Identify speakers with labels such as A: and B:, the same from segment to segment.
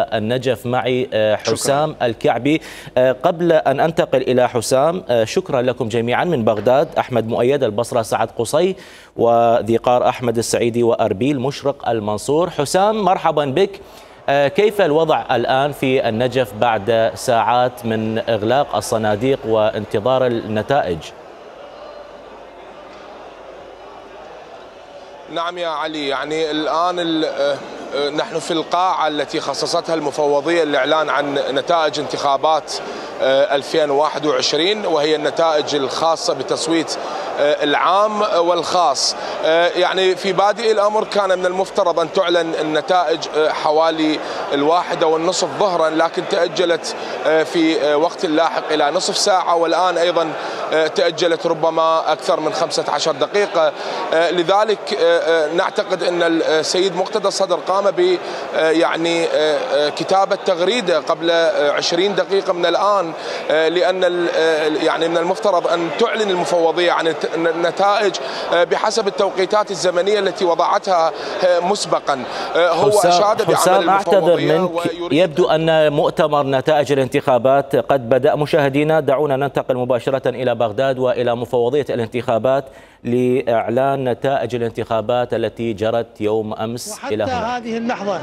A: النجف معي حسام الكعبي. قبل أن أنتقل إلى حسام، شكرا لكم جميعا من بغداد: أحمد مؤيد، البصرة سعد قصي، وذي قار أحمد السعيدي، وأربيل مشرق المنصور. حسام، مرحبا بك. كيف الوضع الآن في النجف بعد ساعات من إغلاق الصناديق وانتظار النتائج؟
B: نعم يا علي، يعني الآن نحن في القاعة التي خصصتها المفوضية للإعلان عن نتائج انتخابات 2021، وهي النتائج الخاصة بتصويت العام والخاص. يعني في بادئ الأمر كان من المفترض أن تعلن النتائج حوالي 1:30 ظهرا، لكن تأجلت في وقت لاحق إلى نصف ساعة، والآن أيضا تأجلت ربما أكثر من 15 دقيقة. لذلك نعتقد أن السيد مقتدى الصدر قام ب يعني كتابة تغريدة قبل 20 دقيقة من الآن، لأن يعني من المفترض أن تعلن المفوضية عن النتائج بحسب التوقيتات الزمنية التي وضعتها مسبقا. هو أشاد بعمل
A: حسام، أعتذر منك، يبدو أن مؤتمر نتائج الانتخابات قد بدأ. مشاهدينا، دعونا ننتقل مباشرة إلى بغداد وإلى مفوضية الانتخابات لإعلان نتائج الانتخابات التي جرت يوم أمس إلى هنا.
C: وحتى هذه اللحظة،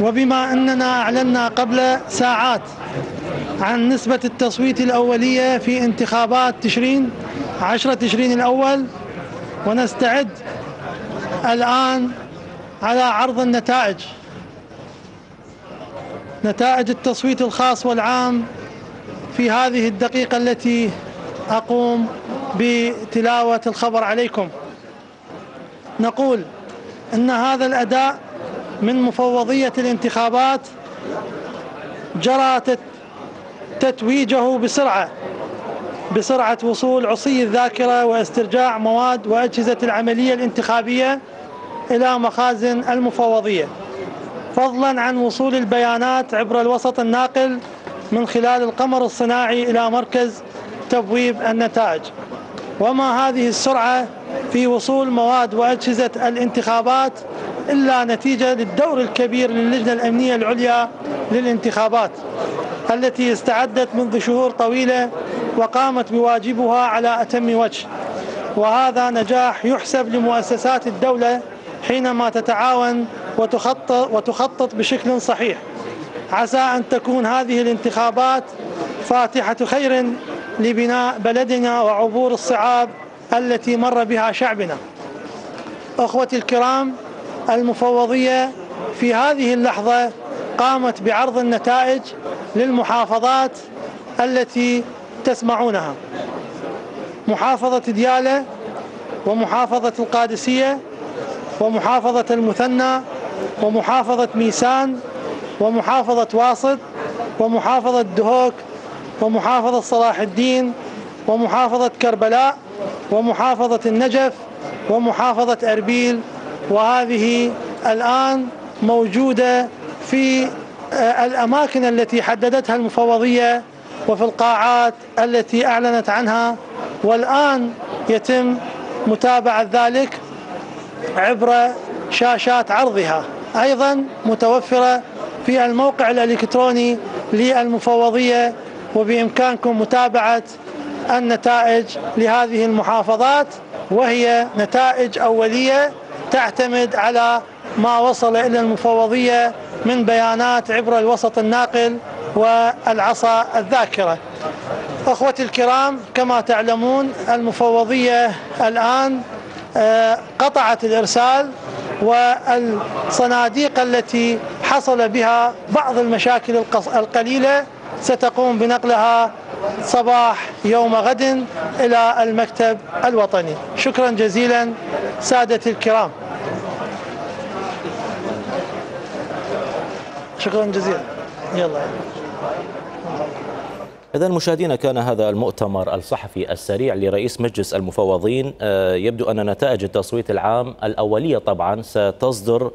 C: وبما أننا أعلنا قبل ساعات عن نسبة التصويت الأولية في انتخابات 10 تشرين الأول، ونستعد الآن على عرض النتائج، نتائج التصويت الخاص والعام في هذه الدقيقة التي أقوم بتلاوة الخبر عليكم. نقول أن هذا الأداء من مفوضية الانتخابات جرى تتويجه بسرعة وصول عصي الذاكرة واسترجاع مواد وأجهزة العملية الانتخابية إلى مخازن المفوضية، فضلا عن وصول البيانات عبر الوسط الناقل من خلال القمر الصناعي إلى مركز تبويب النتائج. وما هذه السرعة في وصول مواد وأجهزة الانتخابات إلا نتيجة للدور الكبير للجنة الأمنية العليا للانتخابات، التي استعدت منذ شهور طويلة وقامت بواجبها على أتم وجه. وهذا نجاح يحسب لمؤسسات الدولة حينما تتعاون وتخطط بشكل صحيح. عسى أن تكون هذه الانتخابات فاتحة خير لبناء بلدنا وعبور الصعاب التي مر بها شعبنا. أخوتي الكرام، المفوضية في هذه اللحظة قامت بعرض النتائج للمحافظات التي تسمعونها: محافظة ديالى، ومحافظة القادسية، ومحافظة المثنى، ومحافظة ميسان، ومحافظة واسط، ومحافظة دهوك، ومحافظة صلاح الدين، ومحافظة كربلاء، ومحافظة النجف، ومحافظة أربيل. وهذه الآن موجودة في الأماكن التي حددتها المفوضية وفي القاعات التي أعلنت عنها، والآن يتم متابعة ذلك عبر شاشات عرضها، أيضا متوفرة في الموقع الإلكتروني للمفوضية، وبإمكانكم متابعة النتائج لهذه المحافظات، وهي نتائج أولية تعتمد على ما وصل إلى المفوضية من بيانات عبر الوسط الناقل والعصا الذاكرة. أخوتي الكرام، كما تعلمون المفوضية الآن قطعت الإرسال، والصناديق التي حصل بها بعض المشاكل القليلة ستقوم بنقلها صباح يوم غد إلى المكتب الوطني. شكرا جزيلا سادتي الكرام، شكرا جزيلا. يلا.
A: إذا مشاهدينا، كان هذا المؤتمر الصحفي السريع لرئيس مجلس المفوضين. يبدو أن نتائج التصويت العام الأولية طبعا ستصدر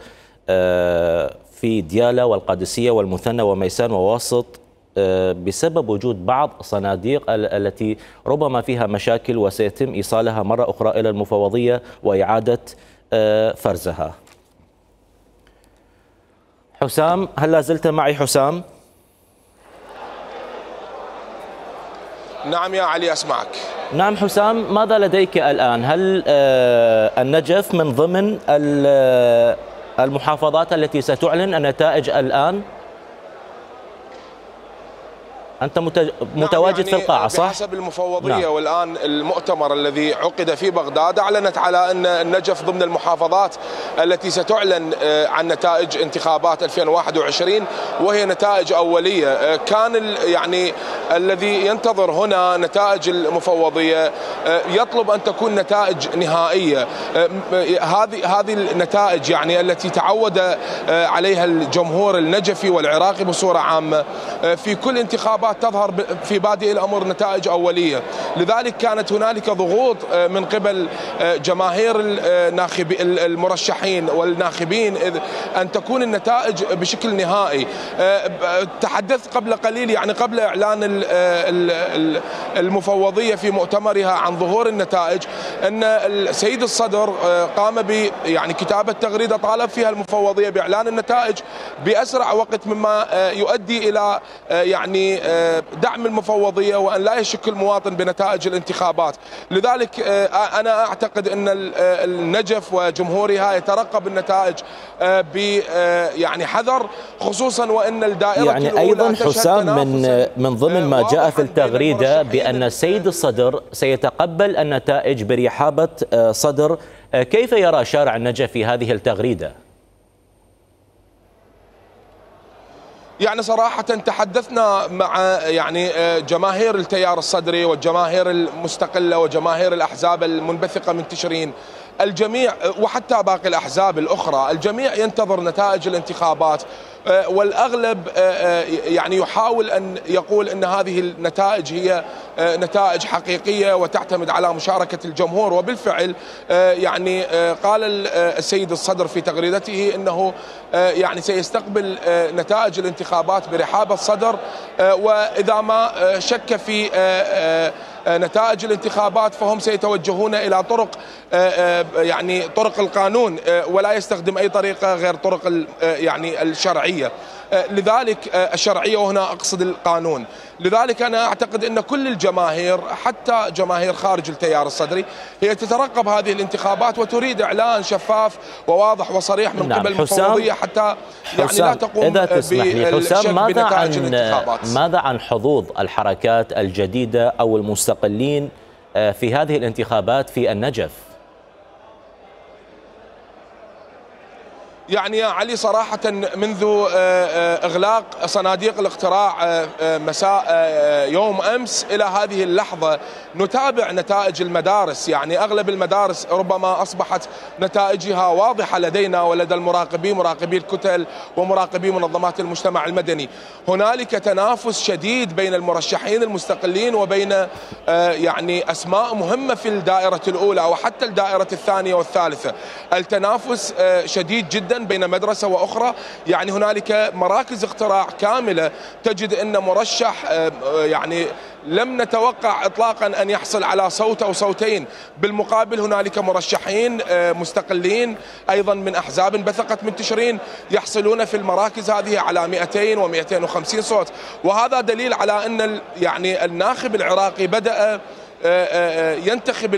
A: في ديالى والقادسية والمثنى وميسان وواسط بسبب وجود بعض صناديق التي ربما فيها مشاكل، وسيتم إيصالها مرة أخرى إلى المفوضية وإعادة فرزها. حسام، هل لا زلت معي حسام؟
B: نعم يا علي أسمعك.
A: نعم حسام، ماذا لديك الآن؟ هل النجف من ضمن المحافظات التي ستعلن النتائج الآن؟ أنت متواجد
B: يعني
A: في القاعة صح؟
B: بحسب المفوضية والآن المؤتمر الذي عقد في بغداد أعلنت على أن النجف ضمن المحافظات التي ستعلن عن نتائج انتخابات 2021 وهي نتائج أولية. كان يعني الذي ينتظر هنا نتائج المفوضية يطلب أن تكون نتائج نهائية. هذه النتائج يعني التي تعود عليها الجمهور النجفي والعراقي بصورة عامة في كل انتخابات تظهر في بادئ الأمر نتائج أولية. لذلك كانت هنالك ضغوط من قبل جماهير المرشحين والناخبين أن تكون النتائج بشكل نهائي. تحدثت قبل قليل يعني قبل إعلان المفوضية في مؤتمرها عن ظهور النتائج أن السيد الصدر قام ب يعني كتابة تغريدة طالب فيها المفوضية بإعلان النتائج بأسرع وقت مما يؤدي إلى يعني دعم المفوضية وأن لا يشك المواطن بنتائج الانتخابات. لذلك أنا أعتقد أن النجف وجمهورها يترقب النتائج ب يعني حذر، خصوصا وأن الدائرة
A: يعني أيضا حسام من ضمن ما جاء في التغريدة بأن السيد الصدر سيتقبل النتائج برحابة صدر. كيف يرى شارع النجف في هذه التغريدة؟
B: يعني صراحة تحدثنا مع يعني جماهير التيار الصدري والجماهير المستقلة وجماهير الأحزاب المنبثقة من تشرين. الجميع وحتى باقي الأحزاب الأخرى الجميع ينتظر نتائج الانتخابات، والأغلب يعني يحاول أن يقول أن هذه النتائج هي نتائج حقيقية وتعتمد على مشاركة الجمهور. وبالفعل يعني قال السيد الصدر في تغريدته أنه يعني سيستقبل نتائج الانتخابات برحاب الصدر، وإذا ما شك في نتائج الانتخابات فهم سيتوجهون إلى طرق يعني طرق القانون ولا يستخدم أي طريقة غير طرق يعني الشرعية. لذلك الشرعية وهنا أقصد القانون. لذلك أنا أعتقد أن كل الجماهير حتى جماهير خارج التيار الصدري هي تترقب هذه الانتخابات وتريد إعلان شفاف وواضح وصريح من قبل المفوضية حتى يعني لا تقوم بالشك بنتائج الانتخابات.
A: ماذا عن حظوظ الحركات الجديدة أو المستقلين في هذه الانتخابات في النجف؟
B: يعني يا علي صراحة منذ إغلاق صناديق الاقتراع مساء يوم أمس إلى هذه اللحظة نتابع نتائج المدارس. يعني أغلب المدارس ربما أصبحت نتائجها واضحة لدينا ولدى المراقبين، مراقبي الكتل ومراقبي منظمات المجتمع المدني. هنالك تنافس شديد بين المرشحين المستقلين وبين يعني أسماء مهمة في الدائرة الأولى وحتى الدائرة الثانية والثالثة. التنافس شديد جدا بين مدرسة وأخرى. يعني هنالك مراكز اقتراع كاملة تجد أن مرشح يعني لم نتوقع إطلاقا أن يحصل على صوت أو صوتين. بالمقابل هنالك مرشحين مستقلين أيضا من أحزاب انبثقت من تشرين يحصلون في المراكز هذه على 200 و250 صوت. وهذا دليل على أن يعني الناخب العراقي بدأ ينتخب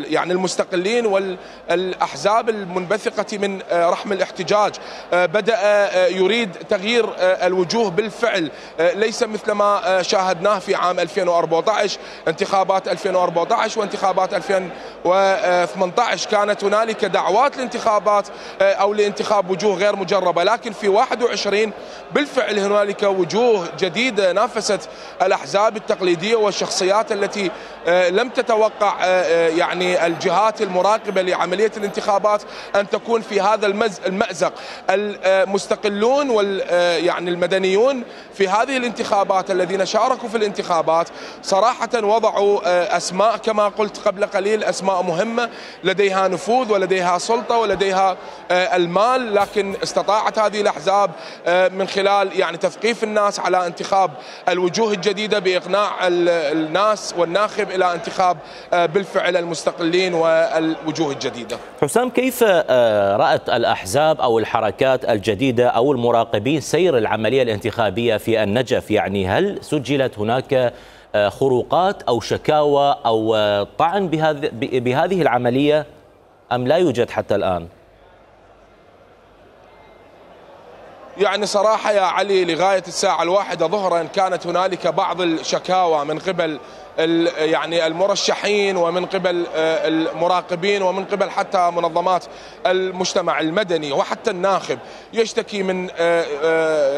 B: يعني المستقلين والأحزاب المنبثقة من رحم الاحتجاج. بدأ يريد تغيير الوجوه بالفعل، ليس مثل ما شاهدناه في عام 2014 انتخابات 2014 وانتخابات 2018 كانت هنالك دعوات لانتخابات أو لانتخاب وجوه غير مجربة. لكن في 21 بالفعل هنالك وجوه جديدة نافست الأحزاب التقليدية والشخصيات التي لم تتوقع يعني الجهات المراقبة لعملية الانتخابات أن تكون في هذا المأزق. المستقلون يعني المدنيون في هذه الانتخابات الذين شاركوا في الانتخابات صراحة وضعوا أسماء كما قلت قبل قليل، أسماء مهمة لديها نفوذ ولديها سلطة ولديها المال، لكن استطاعت هذه الأحزاب من خلال يعني تثقيف الناس على انتخاب الوجوه الجديدة بإقناع الناس والناخب إلى انتخاب بالفعل المستقلين والوجوه الجديدة.
A: حسام، كيف رأت الأحزاب أو الحركات الجديدة أو المراقبين سير العملية الانتخابية في النجف؟ يعني هل سجلت هناك خروقات أو شكاوى أو طعن بهذه العملية أم لا يوجد حتى الآن؟
B: يعني صراحة يا علي لغاية الساعة 1 ظهرا كانت هنالك بعض الشكاوى من قبل يعني المرشحين ومن قبل المراقبين ومن قبل حتى منظمات المجتمع المدني وحتى الناخب يشتكي من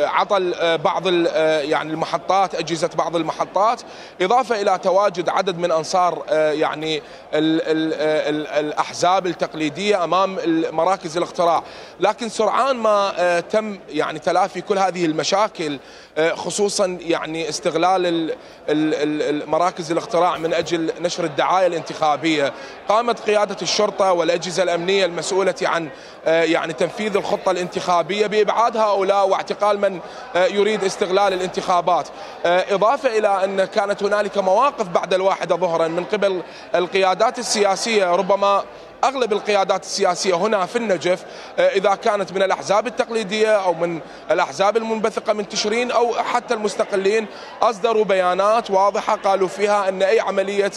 B: عطل بعض يعني المحطات، أجهزة بعض المحطات، إضافة إلى تواجد عدد من أنصار يعني الأحزاب التقليدية أمام مراكز الاقتراع. لكن سرعان ما تم يعني تلافي كل هذه المشاكل، خصوصا يعني استغلال مراكز الاقتراع من أجل نشر الدعاية الانتخابية، قامت قيادة الشرطة والأجهزة الأمنية المسؤولة عن يعني تنفيذ الخطة الانتخابية بإبعاد هؤلاء واعتقال من يريد استغلال الانتخابات. إضافة إلى أن كانت هنالك مواقف بعد 1 ظهرا من قبل القيادات السياسية، ربما أغلب القيادات السياسية هنا في النجف إذا كانت من الأحزاب التقليدية أو من الأحزاب المنبثقة من تشرين أو حتى المستقلين، أصدروا بيانات واضحة قالوا فيها أن أي عملية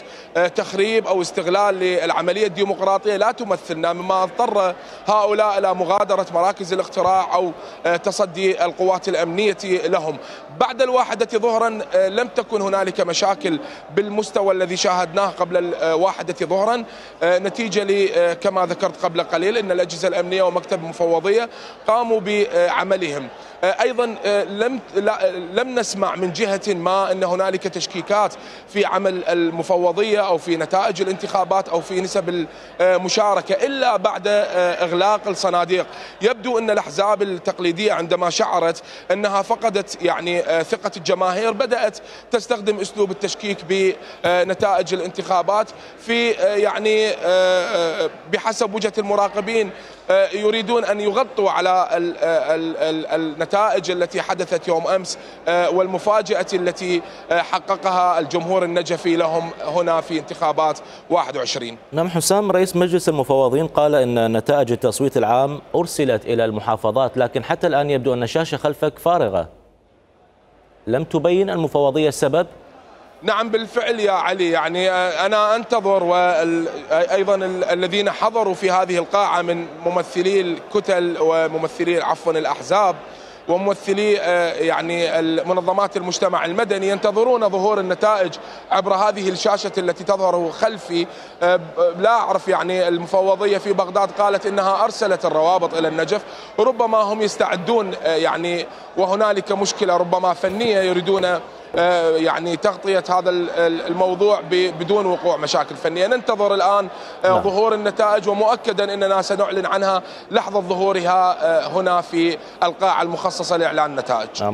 B: تخريب أو استغلال للعملية الديمقراطية لا تمثلنا، مما اضطر هؤلاء إلى مغادرة مراكز الاقتراع أو تصدي القوات الأمنية لهم. بعد 1 ظهرا لم تكن هنالك مشاكل بالمستوى الذي شاهدناه قبل 1 ظهرا، نتيجة كما ذكرت قبل قليل أن الأجهزة الأمنية ومكتب المفوضية قاموا بعملهم. أيضا لم نسمع من جهة ما أن هنالك تشكيكات في عمل المفوضية أو في نتائج الانتخابات أو في نسب المشاركة إلا بعد إغلاق الصناديق. يبدو أن الأحزاب التقليدية عندما شعرت أنها فقدت يعني ثقة الجماهير بدأت تستخدم أسلوب التشكيك بنتائج الانتخابات في يعني بحسب وجهة المراقبين يريدون أن يغطوا على النتائج التي حدثت يوم أمس والمفاجأة التي حققها الجمهور النجفي لهم هنا في انتخابات 21.
A: نعم حسام، رئيس مجلس المفوضين قال أن نتائج التصويت العام أرسلت إلى المحافظات، لكن حتى الآن يبدو أن الشاشة خلفك فارغة. لم تبين المفوضية السبب؟
B: نعم بالفعل يا علي، يعني أنا أنتظر وأيضا الذين حضروا في هذه القاعة من ممثلي الكتل وممثلي الأحزاب وممثلي يعني منظمات المجتمع المدني ينتظرون ظهور النتائج عبر هذه الشاشة التي تظهر خلفي. لا أعرف، يعني المفوضية في بغداد قالت إنها أرسلت الروابط إلى النجف، ربما هم يستعدون يعني وهنالك مشكلة ربما فنية يريدون يعني تغطية هذا الموضوع بدون وقوع مشاكل فنية. ننتظر الآن ظهور النتائج، ومؤكدا أننا سنعلن عنها لحظة ظهورها هنا في القاعة المخصصة لإعلان النتائج.